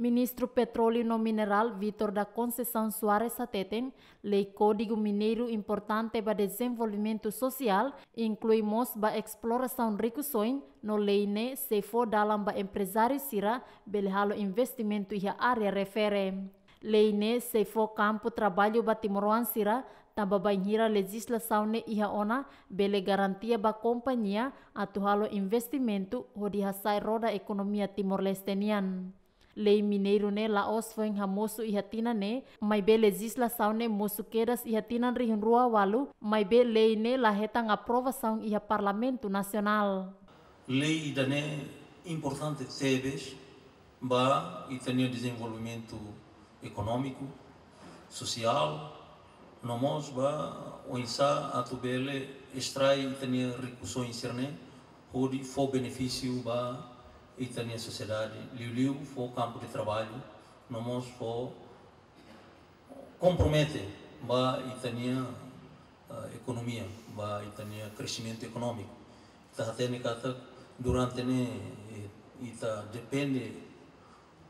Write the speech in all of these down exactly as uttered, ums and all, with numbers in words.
Ministru Petróleu no Minerál, Vítor da Conceição Soares, hateten lei Kódigu Mineiru importante ba dezenvolvimentu sosiál, inklui mós ba esplorasaun rikusoin, no lei ne'e sei fó dalan ba emprezáriu sira bele halo investimentu iha área refere. Lei ne'e sei fó kampu traballu ba timoroan sira, tanba bainhira lejizlasaun ne'e iha ona, bele garantia ba kompañia atu halo investimentu hodi hasa'e roda ekonomia Timor-Leste nian. Lei mineiru ne'e la'ós foin hamosu iha tinan ne'e, maibé lejizlasaun ne'e mosu kedas iha tinan rihun rua ualu, maibé lei ne'e la hetan aprovasaun iha Parlamentu Nasionál. Lei ida-ne'e importante tebes ba ita-nia dezenvolvimentu ekonómiku, sosiál, no mós ba oinsá atu bele estrai ita-nia rikusoin sira-ne'e, hodi fó benefísiu ba ita-nia sosiedade, liuliu fó kampu de traballu, no mós fó kompromete ba ita-nia, ah, ekonomia, ba ita-nia kresimentu ekonómiku. Ita hatene katak durante ne'e, eh, ita depende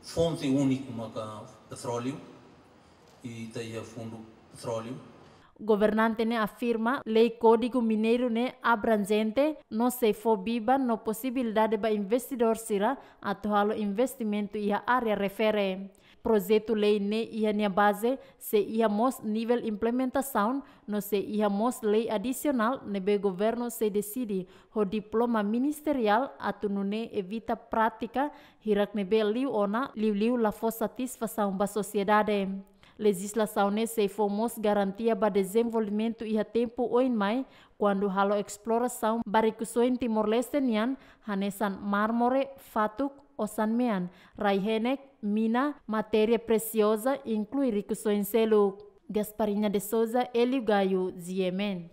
fonte úniku maka petróleu, i ita iha fundu petróleu. Governante ne'e afirma lei Kódigu Mineiru ne'e abranjente, no sei fó biban no posibilidade ba investidór sira atu halo investimentu iha área refere. Projetu lei ne'e iha nia baze sei iha mós nivel implementasaun, no sei iha mós lei adisionál ne'ebé governu sei deside ho diploma ministeriál atu nune'e evita prátika hirak ne'ebé liu ona, liuliu la fó satisfasaun ba sosiedade. Lejizlasaun ne'e sei fó mós garantia ba dezenvolvimentu iha tempu oin mai, kuandu halo esplorasaun ba rikusoin Timor-Leste nian, hanesan mármore, fatuk, osan-mean, rai-henek, mina, matéria presioza, inklui rikusoin seluk. Gasparinha de Souza, Hélio Gaio, G M N.